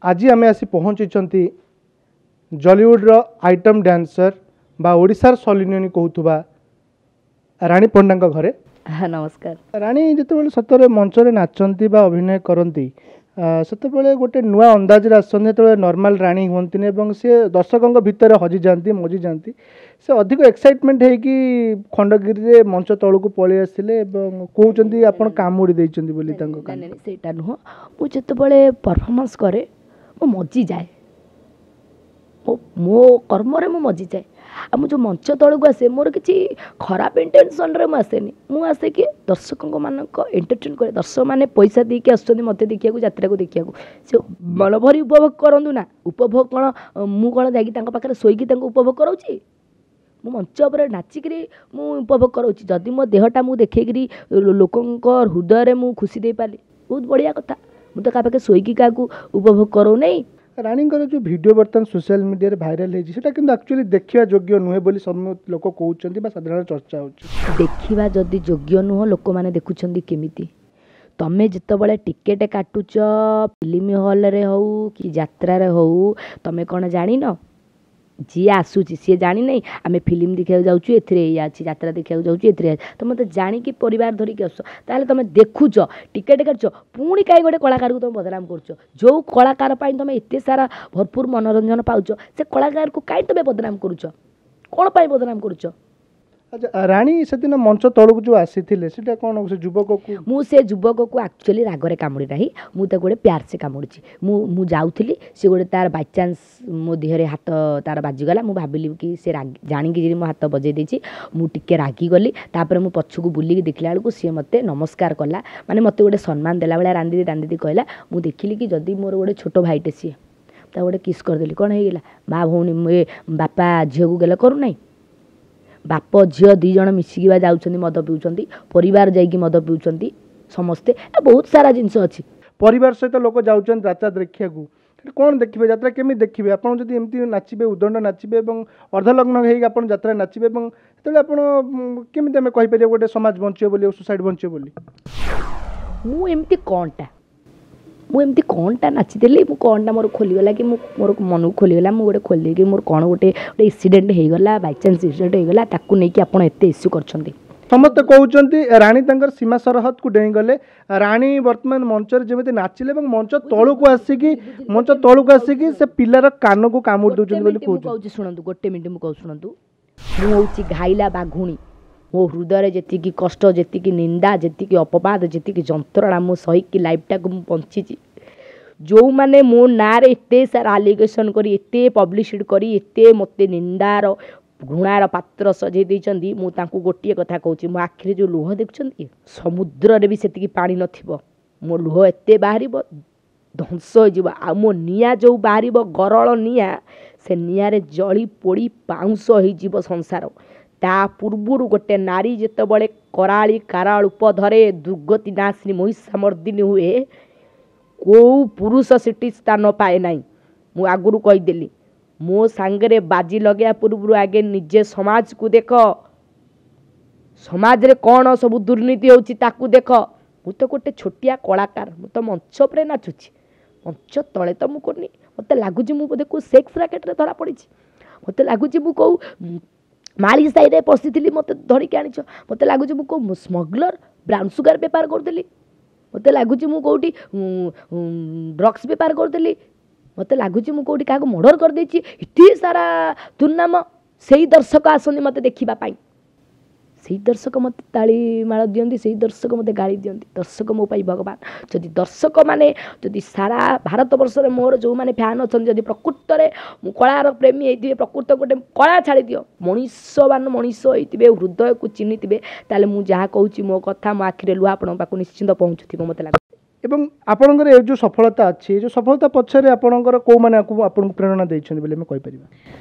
ଆଜି ଆମେ ଆସି ପହଞ୍ଚିଛନ୍ତି ଜଲିଉଡ଼ର ଆଇଟମ୍ ଡ୍ୟାନ୍ସର ବା ଓଡ଼ିଶାର ସନ୍ନି ଲିଓନି କହୁଥିବା ରାଣୀ ପଣ୍ଡାଙ୍କ ଘରେ। ନମସ୍କାର। ରାଣୀ ଯେତେବେଳେ ସତରେ ମଞ୍ଚରେ ନାଚନ୍ତି ବା ଅଭିନୟ କରନ୍ତି, ସେତେବେଳେ ଗୋଟେ ନୂଆ ଅନ୍ଦାଜରେ ଆସନ୍ତି। ଯେତେବେଳେ ନର୍ମାଲ ରାଣୀ ହୁଅନ୍ତିନି ଏବଂ ସିଏ ଦର୍ଶକଙ୍କ ଭିତରେ ହଜିଯାଆନ୍ତି, ମଜିଯାଆନ୍ତି। ସେ ଅଧିକ ଏକ୍ସାଇଟମେଣ୍ଟ ହେଇକି ଖଣ୍ଡଗିରିରେ ମଞ୍ଚ ତଳକୁ ପଳେଇ ଆସିଲେ ଏବଂ କହୁଛନ୍ତି ଆପଣ କାମୁଡ଼ି ଦେଇଛନ୍ତି ବୋଲି ତାଙ୍କ ନାଇଁ ନାଇଁ, ସେଇଟା ନୁହଁ। ମୁଁ ଯେତେବେଳେ ପରଫର୍ମାନ୍ସ କରେ, ମୁଁ ମଜିଯାଏ, ମୋ କର୍ମରେ ମୁଁ ମଜିଯାଏ। ଆଉ ମୁଁ ଯେଉଁ ମଞ୍ଚ ତଳକୁ ଆସେ, ମୋର କିଛି ଖରାପ ଇଣ୍ଟେନସନ୍ରେ ମୁଁ ଆସେନି। ମୁଁ ଆସେ କି ଦର୍ଶକଙ୍କ ମାନଙ୍କ ଏଣ୍ଟରଟେନ୍ କରେ। ଦର୍ଶକମାନେ ପଇସା ଦେଇକି ଆସୁଛନ୍ତି ମୋତେ ଦେଖିବାକୁ, ଯାତ୍ରାକୁ ଦେଖିବାକୁ। ସେ ମନ ଭରି ଉପଭୋଗ କରନ୍ତୁ ନା। ଉପଭୋଗ କ'ଣ, ମୁଁ କ'ଣ ଯାଇକି ତାଙ୍କ ପାଖରେ ଶୋଇକି ତାଙ୍କୁ ଉପଭୋଗ କରାଉଛି? ମୁଁ ମଞ୍ଚ ଉପରେ ନାଚିକିରି ମୁଁ ଉପଭୋଗ କରାଉଛି। ଯଦି ମୋ ଦେହଟା ମୁଁ ଦେଖେଇକିରି ଲୋକଙ୍କ ହୃଦୟରେ ମୁଁ ଖୁସି ଦେଇପାରିଲି, ବହୁତ ବଢ଼ିଆ କଥା। ମୁଁ ତ କାହା ପାଖରେ ଶୋଇକି କାହାକୁ ଉପଭୋଗ କରାଉନାହିଁ। ରାଣୀଙ୍କର ଯେଉଁ ଭିଡ଼ିଓ ବର୍ତ୍ତମାନ ସୋସିଆଲ ମିଡ଼ିଆରେ ଭାଇରାଲ ହେଇଛି, ସେଟା କିନ୍ତୁ ଆକ୍ଚୁଆଲି ଦେଖିବା ଯୋଗ୍ୟ ନୁହେଁ ବୋଲି ସମସ୍ତ ଲୋକ କହୁଛନ୍ତି ବା ସାଧାରଣ ଚର୍ଚ୍ଚା ହେଉଛି। ଦେଖିବା ଯଦି ଯୋଗ୍ୟ ନୁହଁ, ଲୋକମାନେ ଦେଖୁଛନ୍ତି କେମିତି? ତମେ ଯେତେବେଳେ ଟିକେଟ୍ କାଟୁଛ, ଫିଲ୍ମ ହଲ୍ରେ ହଉ କି ଯାତ୍ରାରେ ହଉ, ତମେ କ'ଣ ଜାଣିନ? ଯିଏ ଆସୁଛି ସିଏ ଜାଣିନାହିଁ ଆମେ ଫିଲ୍ମ ଦେଖିବାକୁ ଯାଉଛୁ, ଏଥିରେ ଏଇଆ ଅଛି, ଯାତ୍ରା ଦେଖିବାକୁ ଯାଉଛୁ, ଏଥିରେ? ତମେ ତ ଜାଣିକି ପରିବାର ଧରିକି ଆସୁଛ। ତାହେଲେ ତମେ ଦେଖୁଛ, ଟିକେଟ୍ କାଟୁଛ, ପୁଣି କାହିଁ ଗୋଟେ କଳାକାରକୁ ତମେ ବଦନାମ କରୁଛ? ଯେଉଁ କଳାକାର ପାଇଁ ତମେ ଏତେ ସାରା ଭରପୁର ମନୋରଞ୍ଜନ ପାଉଛ, ସେ କଳାକାରକୁ କାହିଁ ତମେ ବଦନାମ କରୁଛ? କ'ଣ ପାଇଁ ବଦନାମ କରୁଛ? ଆଚ୍ଛା ରାଣୀ, ସେଦିନ ମଞ୍ଚ ତଳକୁ ଯେଉଁ ଆସିଥିଲେ, ସେଟା କ'ଣ ସେ ଯୁବକକୁ? ମୁଁ ସେ ଯୁବକକୁ ଆକ୍ଚୁଆଲି ରାଗରେ କାମୁଡ଼ି ନାହିଁ, ମୁଁ ତାକୁ ଗୋଟେ ପ୍ୟାର ସେ କାମୁଡ଼ିଛି। ମୁଁ ଯାଉଥିଲି, ସେ ଗୋଟେ ତାର ବାଇଚାନ୍ସ ମୋ ଦେହରେ ହାତ ତାର ବାଜିଗଲା। ମୁଁ ଭାବିଲି କି ସେ ଜାଣିକି ମୋ ହାତ ବଜେଇ ଦେଇଛି। ମୁଁ ଟିକେ ରାଗିଗଲି। ତାପରେ ମୁଁ ପଛକୁ ବୁଲିକି ଦେଖିଲା ବେଳକୁ ସିଏ ମୋତେ ନମସ୍କାର କଲା, ମାନେ ମୋତେ ଗୋଟେ ସମ୍ମାନ ଦେଲା ଭଳିଆ, ରାନ୍ଦିଦି ରାନ୍ଦିଦି କହିଲା। ମୁଁ ଦେଖିଲି କି ଯଦି ମୋର ଗୋଟେ ଛୋଟ ଭାଇଟେ ସିଏ, ତାକୁ ଗୋଟେ କିସ୍ କରିଦେଲି, କ'ଣ ହେଇଗଲା? ମା ଭଉଣୀ, ଏ ବାପା ଝିଅକୁ ଗେଲ କରୁନାହିଁ? ବାପ ଝିଅ ଦୁଇ ଜଣ ମିଶିକି ବା ଯାଉଛନ୍ତି, ମଦ ପିଉଛନ୍ତି, ପରିବାର ଯାଇକି ମଦ ପିଉଛନ୍ତି ସମସ୍ତେ। ବହୁତ ସାରା ଜିନିଷ ଅଛି। ପରିବାର ସହିତ ଲୋକ ଯାଉଛନ୍ତି ଯାତ୍ରା ଦେଖିବାକୁ, ସେଠି କ'ଣ ଦେଖିବେ? ଯାତ୍ରା କେମିତି ଦେଖିବେ? ଆପଣ ଯଦି ଏମିତି ନାଚିବେ, ଉଦଣ୍ଡ ନାଚିବେ ଏବଂ ଅର୍ଦ୍ଧଲଗ୍ନ ହେଇକି ଆପଣ ଯାତ୍ରା ନାଚିବେ ଏବଂ ସେତେବେଳେ ଆପଣ କେମିତି ଆମେ କହିପାରିବା ଗୋଟେ ସମାଜ ବଞ୍ଚିବ ବୋଲି, ସୋସାଇଟି ବଞ୍ଚିବ ବୋଲି? ମୁଁ ଏମିତି କ'ଣଟା ନାଚିଦେଲି? ମୁଁ କ'ଣଟା ମୋର ଖୋଲିଗଲା କି ମୁଁ ମୋର ମନକୁ ଖୋଲିଗଲା, ମୁଁ ଗୋଟେ ଖୋଲି ଦେଇକି ମୋର କ'ଣ ଗୋଟେ ଇନ୍ସିଡେଣ୍ଟ ହେଇଗଲା, ବାଇଚାନ୍ସ ଇନ୍ସିଡେଣ୍ଟ ହେଇଗଲା, ତାକୁ ନେଇକି ଆପଣ ଏତେ ଇସ୍ୟୁ କରିଛନ୍ତି? ସମସ୍ତେ କହୁଛନ୍ତି ରାଣୀ ତାଙ୍କର ସୀମା ସରହଦକୁ ଡେଇଁଗଲେ। ରାଣୀ ବର୍ତ୍ତମାନ ମଞ୍ଚରେ ଯେମିତି ନାଚିଲେ ଏବଂ ମଞ୍ଚ ତଳକୁ ଆସିକି ସେ ପିଲାର କାନକୁ କାମୁଡ଼ି ଦେଉଛନ୍ତି ବୋଲି କହୁଛି। କହୁଛି ଶୁଣନ୍ତୁ, ଗୋଟେ ମିନିଟ୍, ମୁଁ କହୁଛି ଶୁଣନ୍ତୁ। ମୁଁ ହେଉଛି ଘାଇଲା ବାଘୁଣୀ। ମୋ ହୃଦୟରେ ଯେତିକି କଷ୍ଟ, ଯେତିକି ନିନ୍ଦା, ଯେତିକି ଅପବାଦ, ଯେତିକି ଯନ୍ତ୍ରଣା ମୁଁ ସହିକି ଲାଇଫ୍ଟାକୁ ମୁଁ ବଞ୍ଚିଛି, ଯେଉଁମାନେ ମୋ ନାଁରେ ଏତେ ସାରା ଆଲିଗେସନ୍ କରି, ଏତେ ପବ୍ଲିସିଟି କରି, ଏତେ ମୋତେ ନିନ୍ଦାର ଘୃଣାର ପାତ୍ର ସଜେଇ ଦେଇଛନ୍ତି, ମୁଁ ତାଙ୍କୁ ଗୋଟିଏ କଥା କହୁଛି। ମୋ ଆଖିରେ ଯେଉଁ ଲୁହ ଦେଖୁଛନ୍ତି, ସମୁଦ୍ରରେ ବି ସେତିକି ପାଣି ନଥିବ। ମୋ ଲୁହ ଏତେ ବାହାରିବ, ଧ୍ୱଂସ ହେଇଯିବ। ଆଉ ମୋ ନିଆଁ ଯେଉଁ ବାହାରିବ, ଗରଳ ନିଆଁ, ସେ ନିଆଁରେ ଜଳି ପୋଡ଼ି ପାଉଁଶ ହେଇଯିବ ସଂସାର। ତା ପୂର୍ବରୁ ଗୋଟେ ନାରୀ ଯେତେବେଳେ କରାଳି କାରାଳ ରୂପ ଧରେ, ଦୁର୍ଗତି ନାଶିନୀ ମହିଷାମର୍ଦିନୀ ହୁଏ, କେଉଁ ପୁରୁଷ ସେଠି ସ୍ଥାନ ପାଏ ନାହିଁ। ମୁଁ ଆଗରୁ କହିଦେଲି, ମୋ ସାଙ୍ଗରେ ବାଜି ଲଗାଇବା ପୂର୍ବରୁ ଆଗେ ନିଜେ ସମାଜକୁ ଦେଖ। ସମାଜରେ କ'ଣ ସବୁ ଦୁର୍ନୀତି ହେଉଛି, ତାକୁ ଦେଖ। ମୁଁ ତ ଗୋଟେ ଛୋଟିଆ କଳାକାର। ମୁଁ ତ ମଞ୍ଚ ଉପରେ ନାଚୁଛି, ମଞ୍ଚ ତଳେ ତ ମୁଁ କରୁନି। ମୋତେ ଲାଗୁଛି ମୁଁ ବୋଧେ କେଉଁ ସେକ୍ସ ରାକେଟରେ ଧରା ପଡ଼ିଛି। ମୋତେ ଲାଗୁଛି ମୁଁ କେଉଁ ମାଳି ସାହିରେ ପଶିଥିଲି, ମୋତେ ଧରିକି ଆଣିଛ। ମୋତେ ଲାଗୁଛି ମୁଁ କେଉଁ ସ୍ମଗଲର, ବ୍ରାଉନ୍ ସୁଗାର ବେପାର କରୁଥିଲି। ମୋତେ ଲାଗୁଛି ମୁଁ କେଉଁଠି ଡ୍ରଗ୍ସ ବେପାର କରୁଥିଲି। ମୋତେ ଲାଗୁଛି ମୁଁ କେଉଁଠି କାହାକୁ ମର୍ଡ଼ର କରିଦେଇଛି। ଏତେ ସାରା ଦୁର୍ନାମ। ସେଇ ଦର୍ଶକ ଆସନ୍ତି ମୋତେ ଦେଖିବା ପାଇଁ, ସେଇ ଦର୍ଶକ ମୋତେ ତାଳି ମାଳ ଦିଅନ୍ତି, ସେଇ ଦର୍ଶକ ମୋତେ ଗାଳି ଦିଅନ୍ତି। ଦର୍ଶକ ମୋ ପାଇଁ ଭଗବାନ। ଯଦି ଦର୍ଶକମାନେ, ଯଦି ସାରା ଭାରତବର୍ଷରେ ମୋର ଯେଉଁମାନେ ଫ୍ୟାନ୍ ଅଛନ୍ତି, ଯଦି ପ୍ରକୃତରେ ମୁଁ କଳାର ପ୍ରେମୀ ହେଇଥିବେ, ପ୍ରକୃତ ଗୋଟେ କଳା ଛାଡ଼ିଦିଅ, ମଣିଷବାନ ମଣିଷ ହେଇଥିବେ, ହୃଦୟକୁ ଚିହ୍ନିଥିବେ, ତାହେଲେ ମୁଁ ଯାହା କହୁଛି, ମୋ କଥା, ମୋ ଆଖିରେ ଲୁହ ଆପଣଙ୍କ ପାଖକୁ ନିଶ୍ଚିନ୍ତ ପହଞ୍ଚୁଥିବ ମୋତେ ଲାଗୁଛି। ଏବଂ ଆପଣଙ୍କର ଏ ଯେଉଁ ସଫଳତା ଅଛି, ଏ ଯେଉଁ ସଫଳତା ପଛରେ ଆପଣଙ୍କର କେଉଁମାନେ ଆପଣଙ୍କୁ ପ୍ରେରଣା ଦେଇଛନ୍ତି ବୋଲି ଆମେ କହିପାରିବା?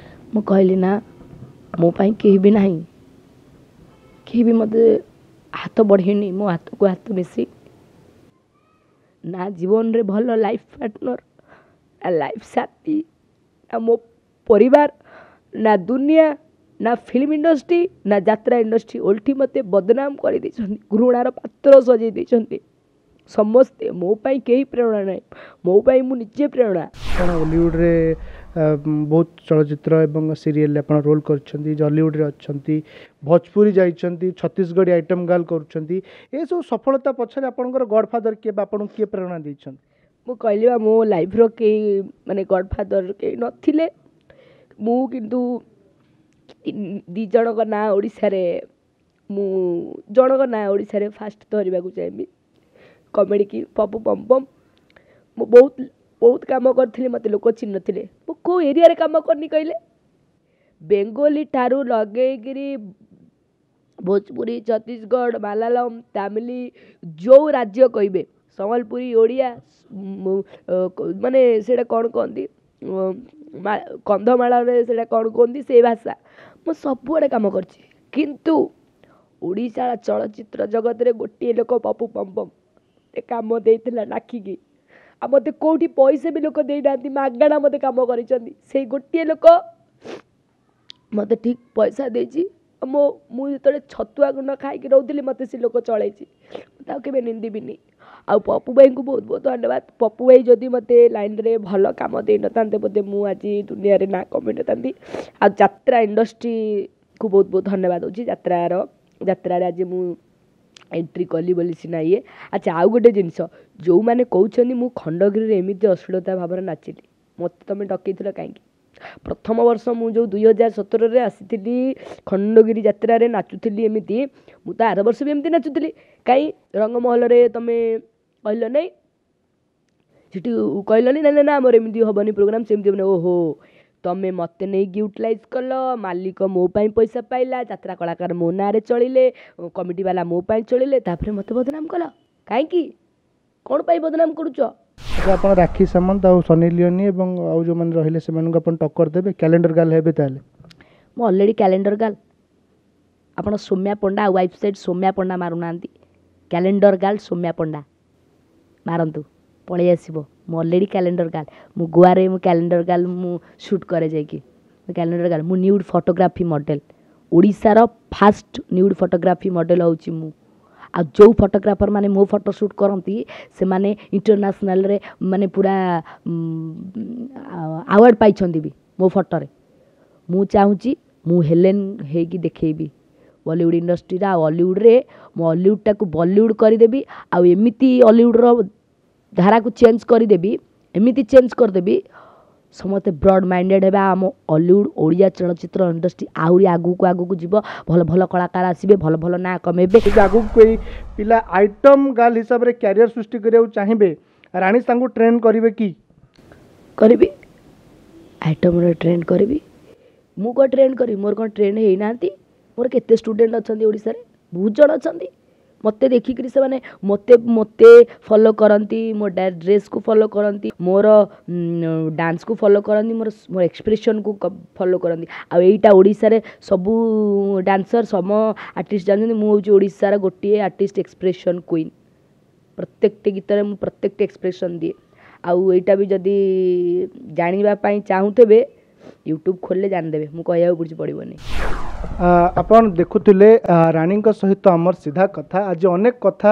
ମୁଁ କହିଲି ନା, ମୋ ପାଇଁ କେହି ବି ନାହିଁ। କେହି ବି ମୋତେ ହାତ ବଢ଼େଇନି ମୋ ହାତକୁ ହାତ ମିଶି। ନା ଜୀବନରେ ଭଲ ଲାଇଫ୍ ପାର୍ଟନର୍, ନା ଲାଇଫ୍ ସାଥୀ, ନା ମୋ ପରିବାର, ନା ଦୁନିଆ, ନା ଫିଲ୍ମ ଇଣ୍ଡଷ୍ଟ୍ରି, ନା ଯାତ୍ରା ଇଣ୍ଡଷ୍ଟ୍ରି। ଓଲଟି ମୋତେ ବଦନାମ କରିଦେଇଛନ୍ତି, ଘୃଣାର ପାତ୍ର ସଜେଇ ଦେଇଛନ୍ତି। ସମସ୍ତେ ମୋ ପାଇଁ କେହି ପ୍ରେରଣା ନାହିଁ, ମୋ ପାଇଁ ମୁଁ ନିଜେ ପ୍ରେରଣା। ଆପଣ ଓଲିଉଡ଼ରେ ବହୁତ ଚଳଚ୍ଚିତ୍ର ଏବଂ ସିରିଏଲରେ ଆପଣ ରୋଲ୍ କରିଛନ୍ତି, ଜଲିଉଡ଼ରେ ଅଛନ୍ତି, ଭୋଜପୁରୀ ଯାଇଛନ୍ତି, ଛତିଶଗଡ଼ି ଆଇଟମ୍ ଗାର୍ଲ କରୁଛନ୍ତି। ଏସବୁ ସଫଳତା ପଛରେ ଆପଣଙ୍କର ଗଡ଼ଫାଦର କିଏ ବା ଆପଣଙ୍କୁ କିଏ ପ୍ରେରଣା ଦେଇଛନ୍ତି? ମୁଁ କହିଲି ବା, ମୋ ଲାଇଫ୍ର କେହି ମାନେ ଗଡ଼ଫାଦର କେହି ନଥିଲେ। ମୁଁ କିନ୍ତୁ 2 ଜଣଙ୍କ ନାଁ ଓଡ଼ିଶାରେ, ମୁଁ ଜଣଙ୍କ ନାଁ ଓଡ଼ିଶାରେ ଫାଷ୍ଟ ଧରିବାକୁ ଚାହିଁବି, କମେଡ଼ି କି ପପୁ ପମ୍ପମ୍। ମୁଁ ବହୁତ ବହୁତ କାମ କରିଥିଲି, ମୋତେ ଲୋକ ଚିହ୍ନି ନଥିଲେ। ମୁଁ କେଉଁ ଏରିଆରେ କାମ କରିନି କହିଲେ? ବେଙ୍ଗୋଲି ଠାରୁ ଲଗେଇକିରି ଭୋଜପୁରୀ, ଛତିଶଗଡ଼, ମାଲାୟାଲମ, ତାମିଲ, ଯେଉଁ ରାଜ୍ୟ କହିବେ, ସମ୍ବଲପୁରୀ, ଓଡ଼ିଆ, ମାନେ ସେଇଟା କ'ଣ କହନ୍ତି, କନ୍ଧମାଳରେ ସେଇଟା କ'ଣ କୁହନ୍ତି ସେଇ ଭାଷା, ମୁଁ ସବୁଆଡ଼େ କାମ କରିଛି। କିନ୍ତୁ ଓଡ଼ିଶା ଚଳଚ୍ଚିତ୍ର ଜଗତରେ ଗୋଟିଏ ଲୋକ ପପୁ ପମ୍ପମ୍ ମୋତେ କାମ ଦେଇଥିଲା ଡାକିକି, ଆଉ ମୋତେ କେଉଁଠି ପଇସା ବି ଲୋକ ଦେଇନାହାନ୍ତି, ମାଗଣା ମୋତେ କାମ କରିଛନ୍ତି। ସେଇ ଗୋଟିଏ ଲୋକ ମୋତେ ଠିକ୍ ପଇସା ଦେଇଛି। ମୋ ମୁଁ ଯେତେବେଳେ ଛତୁଆ ଗୁଣ୍ଡ ଖାଇକି ରହୁଥିଲି, ମୋତେ ସେ ଲୋକ ଚଳେଇଛି, ମୁଁ ତାକୁ କେବେ ନିନ୍ଦିବିନି। ଆଉ ପପୁ ଭାଇଙ୍କୁ ବହୁତ ବହୁତ ଧନ୍ୟବାଦ। ପପୁ ଭାଇ ଯଦି ମୋତେ ଲାଇନ୍ରେ ଭଲ କାମ ଦେଇନଥାନ୍ତେ, ବୋଧେ ମୁଁ ଆଜି ଦୁନିଆରେ ନାଁ କମେଇନଥାନ୍ତି। ଆଉ ଯାତ୍ରା ଇଣ୍ଡଷ୍ଟ୍ରିକୁ ବହୁତ ବହୁତ ଧନ୍ୟବାଦ ଦେଉଛି। ଯାତ୍ରାରେ ଆଜି ମୁଁ ଏଣ୍ଟ୍ରି କଲି ବୋଲି ସିନା ଇଏ। ଆଚ୍ଛା, ଆଉ ଗୋଟେ ଜିନିଷ, ଯେଉଁମାନେ କହୁଛନ୍ତି ମୁଁ ଖଣ୍ଡଗିରିରେ ଏମିତି ଅଶ୍ଳୀଳତା ଭାବରେ ନାଚିଲି, ମୋତେ ତୁମେ ଡକେଇଥିଲ କାହିଁକି? ପ୍ରଥମ ବର୍ଷ ମୁଁ ଯେଉଁ 2017ରେ ଆସିଥିଲି ଖଣ୍ଡଗିରି ଯାତ୍ରାରେ ନାଚୁଥିଲି ଏମିତି, ମୁଁ ତ ଆର ବର୍ଷ ବି ଏମିତି ନାଚୁଥିଲି, କାହିଁ ରଙ୍ଗମହଲରେ ତୁମେ କହିଲ ନାହିଁ? ସେଠି କହିଲନି ନା ନା ନା ଆମର ଏମିତି ହେବନି ପ୍ରୋଗ୍ରାମ୍, ସେମିତି ହେବନି। ଓହୋ, ତମେ ମୋତେ ନେଇକି ୟୁଟିଲାଇଜ୍ କଲ, ମାଲିକ ମୋ ପାଇଁ ପଇସା ପାଇଲା, ଯାତ୍ରା କଳାକାର ମୋ ନାଁରେ ଚଳିଲେ, କମିଟି ବାଲା ମୋ ପାଇଁ ଚଳିଲେ, ତାପରେ ମୋତେ ବଦନାମ କଲ କାହିଁକି? କ'ଣ ପାଇଁ ବଦନାମ କରୁଛ? ଆଚ୍ଛା, ଆପଣ ରାକ୍ଷୀ ସାମନ୍ତ ଆଉ ସନି ଲିଓନି ଏବଂ ଆଉ ଯେଉଁମାନେ ରହିଲେ ସେମାନଙ୍କୁ ଆପଣ ଟକ୍କର ଦେବେ? କ୍ୟାଲେଣ୍ଡର ଗାର୍ଲ ହେବେ ତାହେଲେ? ମୁଁ ଅଲରେଡ଼ି କ୍ୟାଲେଣ୍ଡର ଗାର୍ଲ। ଆପଣ ସୌମ୍ୟା ପଣ୍ଡା ୱେବସାଇଟ୍ ସୌମ୍ୟା ପଣ୍ଡା ମାରୁନାହାନ୍ତି, କ୍ୟାଲେଣ୍ଡର ଗାର୍ଲ ସୌମ୍ୟା ପଣ୍ଡା ମାରନ୍ତୁ, ପଳେଇ ଆସିବ। ମୁଁ ଅଲରେଡ଼ି କ୍ୟାଲେଣ୍ଡର ଗାର୍ଲ। ମୁଁ ଗୋଆରେ ମୁଁ କ୍ୟାଲେଣ୍ଡର ଗାର୍ଲ ମୁଁ ସୁଟ୍ କରେ ଯାଇକି, ମୁଁ କ୍ୟାଲେଣ୍ଡର ଗାର୍ଲ। ମୁଁ ନ୍ୟୁଡ଼୍ ଫଟୋଗ୍ରାଫି ମଡ଼େଲ୍, ଓଡ଼ିଶାର ଫାଷ୍ଟ ନ୍ୟୁଡ଼୍ ଫଟୋଗ୍ରାଫି ମଡ଼େଲ୍ ହେଉଛି ମୁଁ। ଆଉ ଯେଉଁ ଫଟୋଗ୍ରାଫର ମାନେ ମୋ ଫଟୋ ସୁଟ୍ କରନ୍ତି, ସେମାନେ ଇଣ୍ଟରନ୍ୟାସନାଲରେ ମାନେ ପୁରା ଆୱାର୍ଡ଼ ପାଇଛନ୍ତି ବି ମୋ ଫଟୋରେ। ମୁଁ ଚାହୁଁଛି ମୁଁ ହେଲେନ୍ ହେଇକି ଦେଖେଇବି ବଲିଉଡ଼ ଇଣ୍ଡଷ୍ଟ୍ରିରେ, ଆଉ ଅଲିଉଡ଼ରେ ମୁଁ ଅଲିଉଡ଼ଟାକୁ ବଲିଉଡ଼ କରିଦେବି, ଆଉ ଏମିତି ଅଲିଉଡ଼ର ଧାରାକୁ ଚେଞ୍ଜ କରିଦେବି, ଏମିତି ଚେଞ୍ଜ କରିଦେବି ସମସ୍ତେ ବ୍ରଡ଼ ମାଇଣ୍ଡେଡ଼ ହେବେ। ଆମ ଅଲିଉଡ଼ ଓଡ଼ିଆ ଚଳଚ୍ଚିତ୍ର ଇଣ୍ଡଷ୍ଟ୍ରି ଆହୁରି ଆଗକୁ ଆଗକୁ ଯିବ, ଭଲ ଭଲ କଳାକାର ଆସିବେ, ଭଲ ଭଲ ନାଁ କମେଇବେ। ଯଦି ଆଗକୁ କେହି ପିଲା ଆଇଟମ୍ ଗାର୍ଲ ହିସାବରେ କ୍ୟାରିୟର ସୃଷ୍ଟି କରିବାକୁ ଚାହିଁବେ, ରାଣୀ ତାଙ୍କୁ ଟ୍ରେନ୍ କରିବେ କି? କରିବି, ଆଇଟମ୍ରେ ଟ୍ରେଣ୍ଡ କରିବି। ମୁଁ କ'ଣ ଟ୍ରେଣ୍ଡ କରିବି? ମୋର କ'ଣ ଟ୍ରେଣ୍ଡ ହେଇନାହାନ୍ତି? ମୋର କେତେ ଷ୍ଟୁଡ଼େଣ୍ଟ ଅଛନ୍ତି ଓଡ଼ିଶାରେ, ବହୁତ ଜଣ ଅଛନ୍ତି। ମୋତେ ଦେଖିକିରି ସେମାନେ ମୋତେ ମୋତେ ଫଲୋ କରନ୍ତି, ମୋ ଡ୍ରେସ୍କୁ ଫଲୋ କରନ୍ତି, ମୋର ଡାନ୍ସକୁ ଫଲୋ କରନ୍ତି, ମୋର ମୋ ଏକ୍ସପ୍ରେସନ୍କୁ ଫଲୋ କରନ୍ତି। ଆଉ ଏଇଟା ଓଡ଼ିଶାରେ ସବୁ ଡାନ୍ସର ସମ ଆର୍ଟିଷ୍ଟ ଜାଣିଛନ୍ତି, ମୁଁ ହେଉଛି ଓଡ଼ିଶାର ଗୋଟିଏ ଆର୍ଟିଷ୍ଟ ଏକ୍ସପ୍ରେସନ୍ କୁଇନ୍। ପ୍ରତ୍ୟେକଟି ଗୀତରେ ମୁଁ ପ୍ରତ୍ୟେକଟି ଏକ୍ସପ୍ରେସନ୍ ଦିଏ। ଆଉ ଏଇଟା ବି ଯଦି ଜାଣିବା ପାଇଁ ଚାହୁଁଥିବେ, ୟୁଟ୍ୟୁବ୍ ଖୋଲିଲେ ଜାଣିଦେବେ, ମୁଁ କହିବାକୁ କିଛି ପଡ଼ିବନି। ଆପଣ ଦେଖୁଥିଲେ ରାଣୀଙ୍କ ସହିତ ଆମର ସିଧା କଥା। ଆଜି ଅନେକ କଥା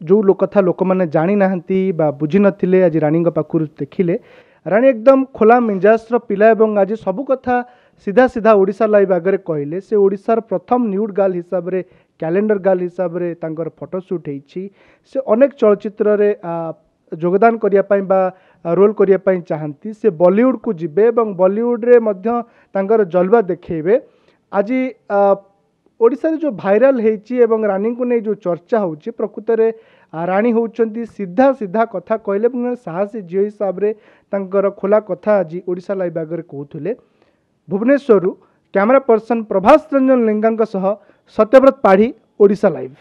ଯେଉଁ କଥା ଲୋକମାନେ ଜାଣିନାହାନ୍ତି ବା ବୁଝିନଥିଲେ, ଆଜି ରାଣୀଙ୍କ ପାଖରୁ ଦେଖିଲେ। ରାଣୀ ଏକଦମ ଖୋଲା ମିଜାଜର ପିଲା ଏବଂ ଆଜି ସବୁ କଥା ସିଧା ସିଧା ଓଡ଼ିଶା ଲାଇଭ୍ ଆଗରେ କହିଲେ। ସେ ଓଡ଼ିଶାର ପ୍ରଥମ ନ୍ୟୁଡ୍ ଗାର୍ଲ ହିସାବରେ, କ୍ୟାଲେଣ୍ଡର ଗାର୍ଲ ହିସାବରେ ତାଙ୍କର ଫଟୋ ସୁଟ୍ ହେଇଛି। ସେ ଅନେକ ଚଳଚ୍ଚିତ୍ରରେ ଯୋଗଦାନ କରିବା ପାଇଁ ବା ରୋଲ୍ କରିବା ପାଇଁ ଚାହାନ୍ତି। ସେ ବଲିଉଡ଼କୁ ଯିବେ ଏବଂ ବଲିଉଡ଼ରେ ମଧ୍ୟ ତାଙ୍କର ଜଲବା ଦେଖେଇବେ। ଆଜି ଓଡ଼ିଶାରେ ଯେଉଁ ଭାଇରାଲ ହେଇଛି ଏବଂ ରାଣୀଙ୍କୁ ନେଇ ଯେଉଁ ଚର୍ଚ୍ଚା ହେଉଛି, ପ୍ରକୃତରେ ରାଣୀ ହେଉଛନ୍ତି ସିଧା ସିଧା କଥା କହିଲେ ଏବଂ ଜଣେ ସାହସୀ ଝିଅ ହିସାବରେ ତାଙ୍କର ଖୋଲା କଥା ଆଜି ଓଡ଼ିଶା ଲାଇଭ୍ ଆଗରେ କହୁଥିଲେ। ଭୁବନେଶ୍ୱରରୁ କ୍ୟାମେରା ପର୍ସନ ପ୍ରଭାସ ରଞ୍ଜନ ଲେଙ୍କାଙ୍କ ସହ ସତ୍ୟବ୍ରତ ପାଢ଼ୀ, ଓଡ଼ିଶା ଲାଇଭ୍।